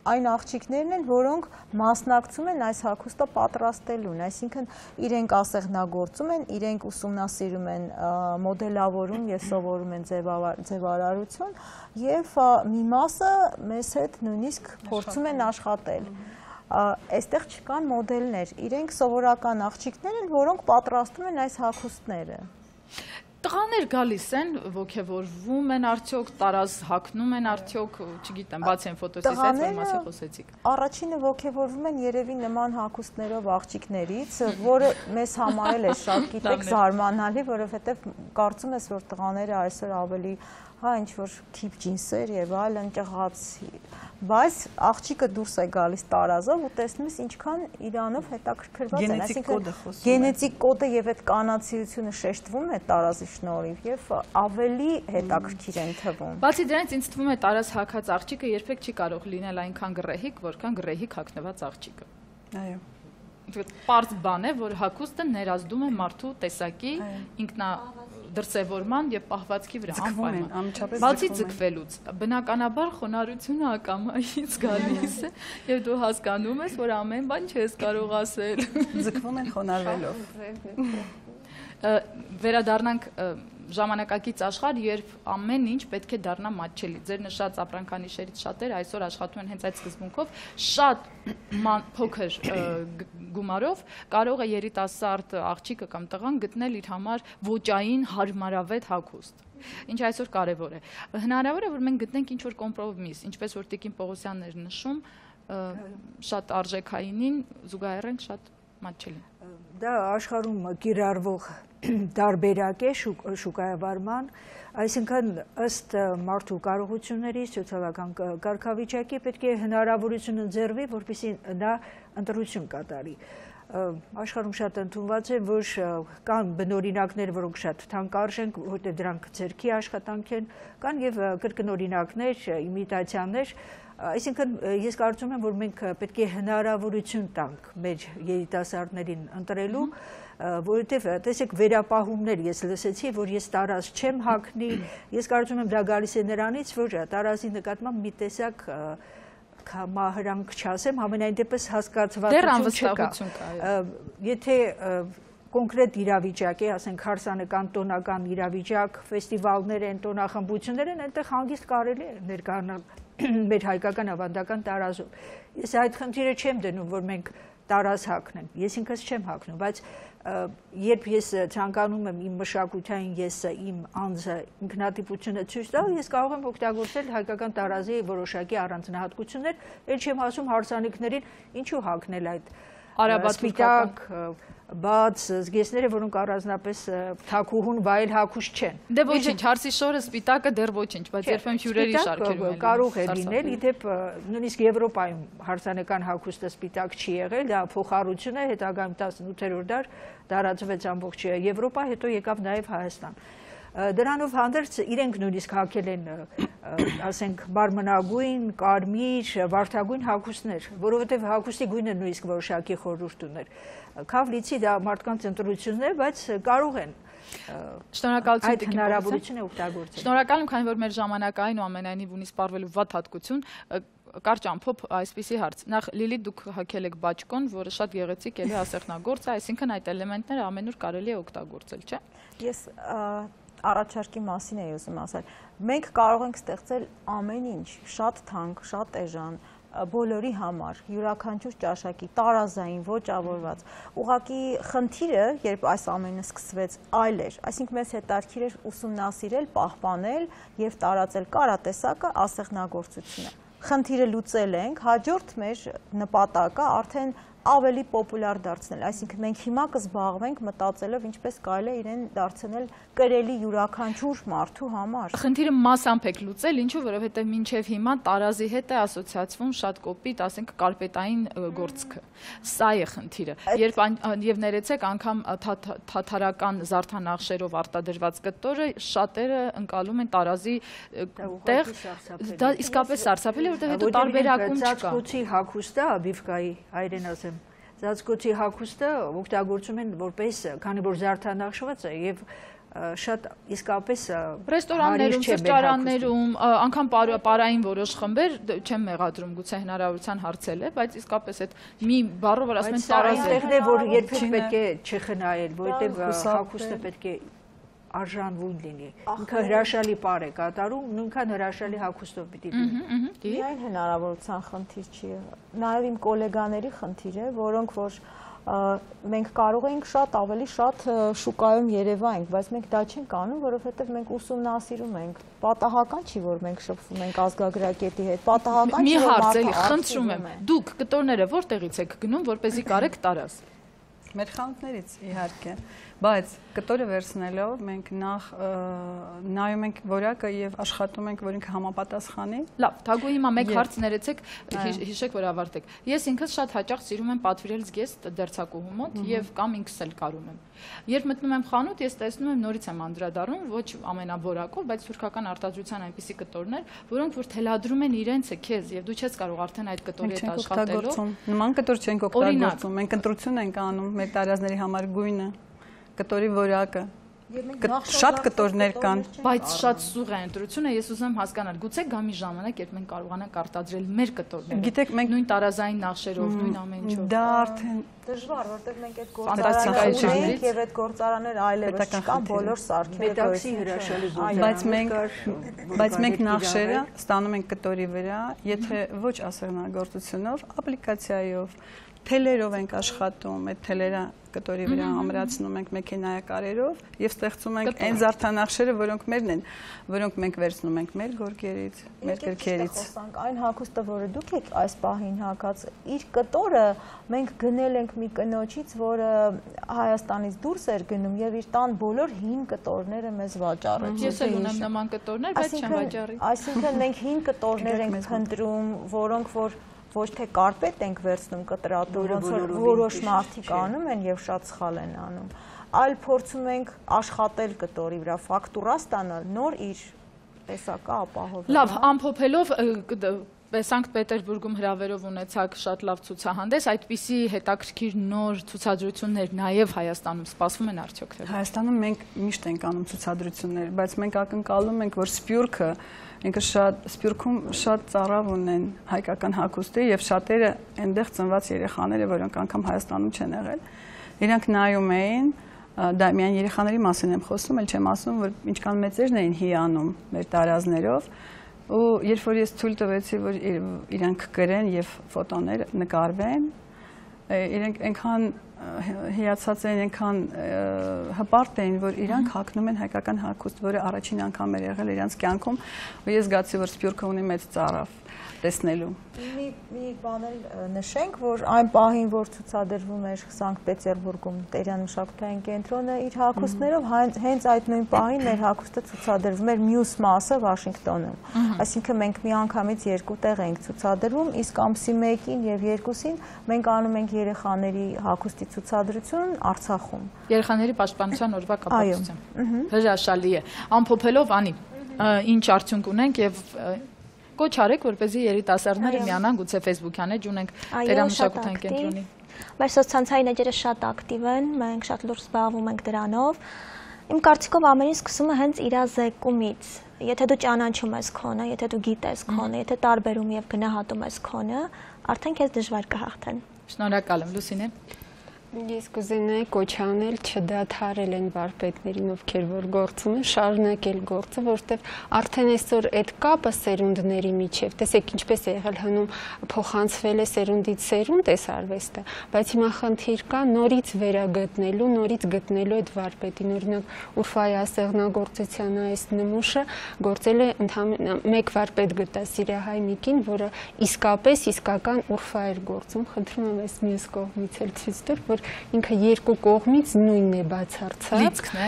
այն աղջիկներն են, որոնք մասնակցում են այս հագուստը պատրաստելուն, այսինքն իրենք ասեղնագործում են, իրենք ուսումնասիրում են մոդելավորում եւ սովորում են ձևարարություն եւ մի մասը մեզ հետ նույնիսկ փորձում են աշխատել։ Այստեղ չկան մոդելներ, իրենք սովորական աղջիկներ են, որոնք պատրաստում են այս հագուստները։ Տղաներ գալիս են, ոգևորվում են արդյոք, տարազ հագնում են արդյոք, չգիտեմ, բացի են ֆոտոսից այդ, որ մասի խոսեցիք։ Առաջինը ոգևորվում են երևի նման հագուստներով աղջիկներից, որը մեզ համարել է շատ գիտեք զարմանալի, որովհետև կարծում ես, որ տղաները այսօր ավելի ինչ որ թիպ ջինսեր եւ այլն ճղած, բայց աղջիկը դուրս է գալիս տարազով ու տեսնում ես ինչքան իրանով հետաքրքրված են, այսինքն գենետիկ կոդը եւ այդ կանացիությունը շեշտվում է տարազի շնորհիվ եւ ավելի հետաքրքիր են թվում։ Բացի դրանից ինձ թվում է տարազ հագած աղջիկը երբեք չի կարող լինել այնքան գռեհիկ, որքան գռեհիկ հագնված աղջիկը։ Այո։ Պարզ բան է, որ հագուստը ներազդում է մարդու տեսակի դրսևորման եւ պահվածքի վրա անպայման։ Բացի ձգվելուց, բնականաբար խոնարհությունը ակամայից գալիս է եւ դու հասկանում ես, որ ամեն բան չես կարող ասել։ Ձգվում են խոնարհվելով։ Վերադառնանք ժամանակակից աշխարհ, երբ ամեն ինչ պետք է դառնա մատչելի։ Ձեր նշած ապրանքանիշերից շատերը այսօր աշխատում են հենց այդ սկզբունքով, շատ փոքր գումարով կարող է երիտասարդ աղջիկը կամ տղան գտնել իր համար ոճային հարմարավետ հագուստ։ Ինչ այսօր կարևոր է։ Հնարավոր է, որ մենք գտնենք ինչ-որ կոմպրոմիս, ինչպես որ Տիկին Պողոսյանն էր նշում, շատ արժեքայինին զուգահեռենք շատ մատչելին։ Դա աշխարհում կիրառվող տարբերակ է շուկայավարման, այսինքն ըստ մարդու կարողությունների, սոցիալական կարգավիճակի պետք է հնարավորություն ընձեռվի, որպեսզի նա ընտրություն կատարի։ Աշխարհում շատ ընդունված է, որ կան բնօրինակներ, որոնք շատ թանկարժեն, որտեղ դրանք ձեռքի աշխատանք են, կան եւ կրկնօրինակներ, իմիտացիաներ, այսինքն ես կարծում եմ, որ մենք պետք է հնարավորություն տանք մեր երիտասարդներին ընտրելու, որովհետև տեսեք վերապահումներ ես լսեցի, որ ես տարազ չեմ հագնի, ես կարծում եմ դա գալիս է նրանից, որ տարազի նկատմամբ մի տեսակ մահրանք չասեմ, համենայն դեպս հասկացվածություն չկա։ Եթե կոնկրետ իրավիճակ է, ասենք հարսանեկան տոնական իրավիճակ, ֆեստիվալներ են, տոնախմբություններ են, այնտեղ հանգիստ կարելի է ներկայանալ մեր հայկական ավանդական տարազով։ Ես այդ խնդիրը չեմ դնում, որ մենք տարազ հագնենք, ես ինքս չեմ հագնում, բայց երբ ես ցանկանում եմ իմ մշակութային եսը, իմ անձը, ինքնատիպությունը ցույց տալ, ես կարող եմ օգտագործել հայկական տարազի որոշակի առանձնահատկություններ, էլ չեմ ասում հարսանիքներին ինչու հագնել այդ սպիտակ, բաց զգեստները, որոնք առանձնապես թաքուհուն վայել հագուստ չեն։ Դե ոչինչ, հարսի շորը սպիտակը դեռ ոչինչ, բայց երբեմն հյուրերի շարքերում է կարող է լինել, իդեպ նույնիսկ Եվրոպայում հարսանեկան հագուստը սպիտակ չի եղել, դա փոխառություն է, հետագայում 18-րդ դար տարածվեց ամբողջ Եվրոպա, հետո եկավ նաև Հայաստան։ Դրանով հանդերձ իրենք նույնիսկ հագել են, ասենք, մարմնագույն, կարմիր, վարդագույն հագուստներ, որովհետև հագուստի գույնը նույնիսկ որոշակի խորհուրդ ուներ։ Քավ լիցի դա մարդկանց ընտրությունն է, բայց կարող են այդ հնարավորությունը օգտագործել։ Շնորհակալ եմ, քանի որ մեր ժամանակային ու ամենայնիվ ունի սպառվելու վատ հատկություն, կարճ ամփոփ այսպիսի հարց։ Նախ Լիլիթ դուք հագել եք բաճկոն, որը շատ գեղեցիկ էլի ասեղնագործ է, այսինքն այդ էլեմենտները ամենուր կարելի է օգտագործել, չէ՞։ Ես առաջարկի մասին էի ուզում ասել։ Մենք կարող ենք ստեղծել ամեն ինչ, շատ թանկ, շատ էժան, բոլորի համար, յուրաքանչյուր ճաշակի, տարազային, ոճավորված։ Ուղղակի խնդիրը, երբ այս ամենը սկսվեց, այլ էր, այսինքն մեզ հետաքրքիր էր ուսումնասիրել, պահպանել եւ տարածել կարատեսակը, ասեղնագործությունը։ Խնդիրը լուծել ենք, հաջորդ մեր նպատակը արդեն ավելի պոպուլար դարձնել, այսինքն մենք հիմա կզբաղվենք մտածելով ինչպես կարելի է իրեն դարձնել կրելի յուրաքանչյուր մարդու համար։ Խնդիրը մասամբ եք լուծել, ինչու, որովհետև մինչև հիմա տարազի հետ է ասոցիացվում շատ կոպիտ, ասենք կարպետային գործքը։ Սա է խնդիրը։ Եվ ներեցեք անգամ թաթարական զարդանախշերով արտադրված կտորը շատերը ընկալում են տարազի տեղ, դա իսկապես սարսափելի, որտեղ հետո տարբերակում չկա։ Ծածկոցի հագուստը, բիվկայի հայերեն ասեմ, ծածկոցի հագուստը օգտագործում են որպես, քանի որ զարդանախշված է եւ շատ իսկապես ռեստորաններում, սրճարաններում, անգամ պարային որոշ խմբեր չեմ մեղադրում, գուցե հնարավորության հարցել է, բայց իսկապես այդ մի բառով որ ասում են տարազը, այնտեղն է, որ երբեք պետք է չխնայել, որովհետեւ հագուստը պետք է արժանվուն լինի։ Ինքը հրաշալի պար է կատարում, նույնքան հրաշալի հագուստով պիտի լինի։ Միայն հնարավորության խնդիր չի, նաև իմ գոլեգաների խնդիր է, որոնք որ մենք կարող ենք շատ ավելի շատ շուկայում երևայինք, բայց մենք դա չենք անում, որովհետև մենք ուսումնասիրում ենք։ Պատահական չի, որ մենք շփվում ենք ազգագրագետի հետ, պատահական չի, որ մի հարց էլի, խնդրում եմ, դուք կտորները որտեղից եք գնում, որպեսզի կարեք տարազ։ Մեր խանութներից իհարկե, բայց կտորը վերցնելով մենք նախ նայում ենք որակը եւ աշխատում ենք, որ ինքը համապատասխանի։ Լավ, Թագուհի, հիմա մեկ հարց ներեցեք, հիշեք, որ ավարտեք։ Ես ինքս շատ հաճախ սիրում եմ պատվիրել զգեստ դերձակուհու մոտ եւ կամ ինքս էլ կարում եմ։ Երբ մտնում եմ խանութ, ես տեսնում եմ նորից եմ անդրադառնում, ոչ ամենավորակով, բայց թուրքական արտադրության այնպիսի կտորներ, որոնք որ թելադրում են իրենցը քեզ եւ դու չես կարող արդեն այդ կտորի հետ աշխատելով։ Նման կտոր չենք օգտագործում, մենք ընտրություն ենք անում մեր տարազների համար գույնը, կտորի որակը։ Շատ կտորներ կան, բայց շատ սուղ է ընտրությունը, ես ուզում եմ հասկանալ, գուցե գա մի ժամանակ, երբ մենք կարողանանք արտադրել մեր կտորները։ Գիտեք, մենք նույն տարազային նախշերով, նույն ամեն ինչով։ Դա արդեն դժվար, որտեղ մենք այդ գործարանները ունենք եւ այդ գործարանները այլևս չկան, բոլոր սարքերը մետաքսի հրաշալի գործարան։ Բայց մենք նախշերը ստանում ենք կտորի վրա, եթե ոչ ասեղնագործությունով, ապլիկացիայով, թելերով ենք աշխատում, այդ թելերը կտորի վրա ամրացնում ենք մեքենայակարերով եւ ստեղծում ենք այն զարդանախշերը, որոնք մերն են, որոնք մենք վերցնում ենք մեր գորգերից, մեր կրքերից։ Այն հագուստը, որը դուք եք այս պահին հագած, իր կտորը մենք գնել ենք մի կնոջից, որը Հայաստանից դուրս էր գնում եւ իր տան բոլոր հին կտորները մեզ վաճառեց։ Ես էլ ունեմ նման կտորներ, բայց չեմ վաճառի։ Այսինքն մենք հին կտորներ ենք փնտրում, որոնք որ ոչ թե կարպետ ենք վերցնում կտրատում, ոնց որ որոշ մարդիկ անում են եւ շատ սխալ են անում, այլ փորձում ենք աշխատել կտորի վրա, ֆակտուրա ստանալ, նոր իր տեսակը ապահովել։ Լավ, ամփոփելով Սանկտ Պետերբուրգում հրավերով ունեցաք շատ լավ ցուցահանդես, այդպիսի հետաքրքիր նոր ցուցադրություններ նաև Հայաստանում սպասվում են արդյոք թե։ Հայաստանում մենք միշտ ենք անում ցուցադրություններ, բայց մենք ակնկալում ենք, որ Սփյուռքը ինքը Սփյուռքում շատ ծառավ ունեն հայկական հագուստի եւ շատերը այնտեղ ծնված երեխաները, որոնք անգամ Հայաստանում չեն եղել, իրանք նայում էին, դա միայն երեխաների մասին եմ խոսում, ել չեմ ասում, որ ինչքան մեծերն էին հիանում մեր տարազներով, ու երբ որ ես ցույց տվեցի, որ իրանք գրեն եւ ֆոտոներ նկարվեն, իրենք այնքան հիացած էին, այնքան հպարտ էին, որ իրանք հագնում են հայկական հագուստ, որը առաջին անգամ էր եղել իրանց կյանքում, ու ես զգացի, որ Սփյուռքը ունի մեծ ծառավ տեսնելու։ Մի բան էլ նշենք, որ այն պահին, որ ցուցադրվում էր Սանկտ Պետերբուրգում Տերյան մշակութային կենտրոնը իր հագուստներով, հենց այդ նույն պահին մեր հագուստը ցուցադրվում էր մյուս մասը Վաշինգտոնում։ Այսինքն մենք միանգամից երկու տեղ ենք ցուցադրվում, իսկ ամսի 1-ին եւ 2-ին մենք անում ենք երեխաների հագուստի ցուցադրություն Արցախում։ Երեխաների պաշտպանության օրվա կապակցությամբ։ Հրաշալի է։ Ամփոփելով Անի, ինչ արդյունք ունենք եւ կոչ արեք, որպեսզի երիտասարդները միանան, գուցե Facebook-յան էջ ունենք Տերամշակութային կենտրոնի։ Մեր սոցցանցային էջերը շատ ակտիվ են, մենք շատ լուրջ զբաղվում ենք դրանով։ Իմ կարծիքով ամեն ինչ սկսում է հենց իրազեկումից։ Եթե դու ճանաչում ես քոնը, եթե դու գիտես քոնը, եթե տարբերում եւ գնահատում ես քոնը, արդեն քեզ դժվար կհաղթեն։ Շնորհակալ եմ, Լուսինե։ Ես կուզենայի կոչ անել չդադարել են վարպետներին, ովքեր որ գործում են, շարունակել գործը, որտեղ արդեն այսօր այդ կապը սերունդների միջև, տեսեք ինչպես է եղել հնում փոխանցվել է սերունդից սերունդ այս արվեստը, բայց հիմա խնդիր կա նորից վերագտնելու, նորից գտնելու այդ վարպետին, օրինակ Ուրֆայի ասեղնագործության այս նմուշը գործել է ընդհանրապես մեկ վարպետ գտա Սիրիահայ Միկին, որը իսկապես իսկական Ուրֆա էր գործում, խնդրում եմ այս մյուս կողմից էլ ցույց տուր, որ ինքը երկու կողմից նույնն է բացարձակ։ Լիցքն է։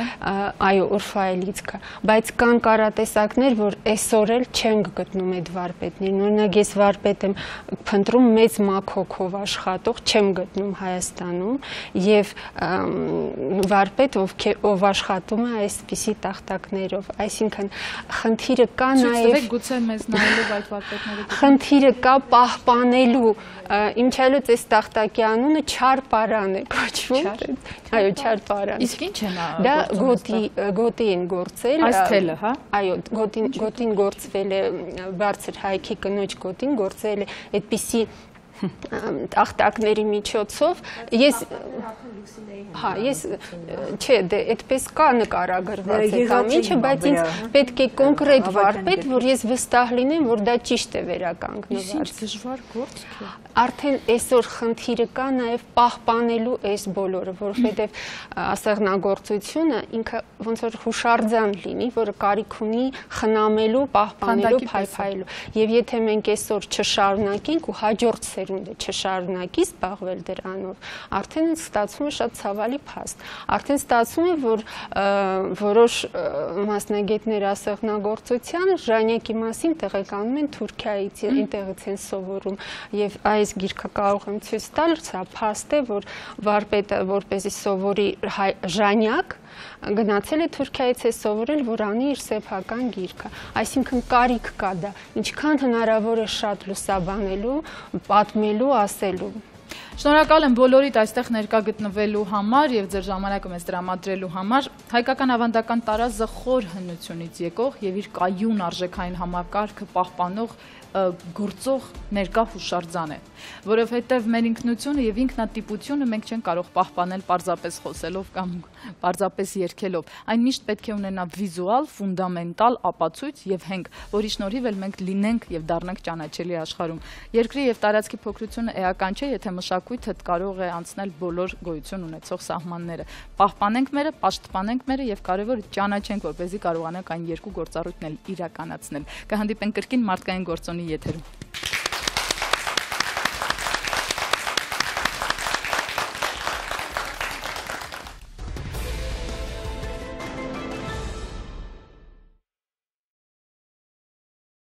Այո, Ուրֆայի լիցքը, բայց կան կարատեսակներ, որ այսօր էլ չենք գտնում այդ վարպետներին։ Օրինակ ես վարպետ եմ փնտրում մեծ մաքոքով աշխատող, չեմ գտնում Հայաստանում, եւ վարպետ, ով աշխատում է այսպիսի տախտակներով, այսինքն խնդիրը կա նաեւ գուցե մեզ նայելով այդ վարպետները։ Խնդիրը կա պահպանելու, իմչալուց այս տախտակի անունը Չարպարան է կոչվում։ Այո, Չարպարան։ Իսկ ինչ է նա։ Դա գոտի են գործել։ Այս թելը, հա։ Այո, գոտին գործվել է բարձր հայքի կնոջ գոտին գործել է այդպիսի տախտակների միջոցով ես չէ, դե այդպես կա նկարագրված այդ ամիջը, բայց ինձ պետք է կոնկրետ վարպետ, որ ես վստահ լինեմ, որ դա ճիշտ է վերականգնված։ Ինչ դժվար գործ է։ Արդեն այսօր խնդիրը կա նաև պահպանելու այս բոլորը, որովհետև ասեղնագործությունը ինքը ոնց որ հուշարձան լինի, որը կարիք ունի խնամելու, պահպանելու, փայփայելու։ Եվ եթե մենք այսօր չշարունակենք ու հաջորդ որում դե չշարունակի զբաղվել դրանով, արդեն ստացվում է շատ ցավալի փաստ։ Արդեն ստացվում է, որ որոշ մասնագետներ ասեղնագործության ժանյակի մասին տեղեկանում են Թուրքիայից, այնտեղից են սովորում, եւ այս գիրքը կարող եմ ցույց տալ, սա փաստ է, որ վարպետը որպեսզի սովորի ժանյակ գնացել է Թուրքիայից է սովորել, որ անի իր սեփական գիրքը, այսինքն կարիք կա դա, ինչքան հնարավոր է շատ լուսաբանելու, պատմելու, ասելու։ Շնորհակալ եմ բոլորիդ այստեղ ներկա գտնվելու համար եւ ձեր ժամանակը մեզ տրամադրելու համար։ Հայկական ավանդական տարազը խոր հնությունից եկող եւ իր կայուն արժեքային համակարգը պահպանող գործող ներկա հուշարձան է, որովհետև մեր ինքնությունը եւ ինքնատիպությունը մենք չենք կարող պահպանել պարզապես խոսելով կամ պարզապես երգելով։ Այն միշտ պետք է ունենա վիզուալ, ֆունդամենտալ ապացույց եւ հենք, որի շնորհիվ էլ մենք լինենք եւ դառնանք ճանաչելի աշխարհում։ Երկրի եւ տարածքի փոքրությունը էական չէ, եթե մշակույթը կարող է անցնել բոլոր գոյություն ունեցող սահմանները։ Պահպանենք մերը, պաշտպանենք մերը եւ կարեւորը ճանաչենք, որպեսզի կարողանանք այն երկու գործառույթն էլ իրականացնել։ Կհանդիպենք կրկին մարդկային գործոնի եթերում։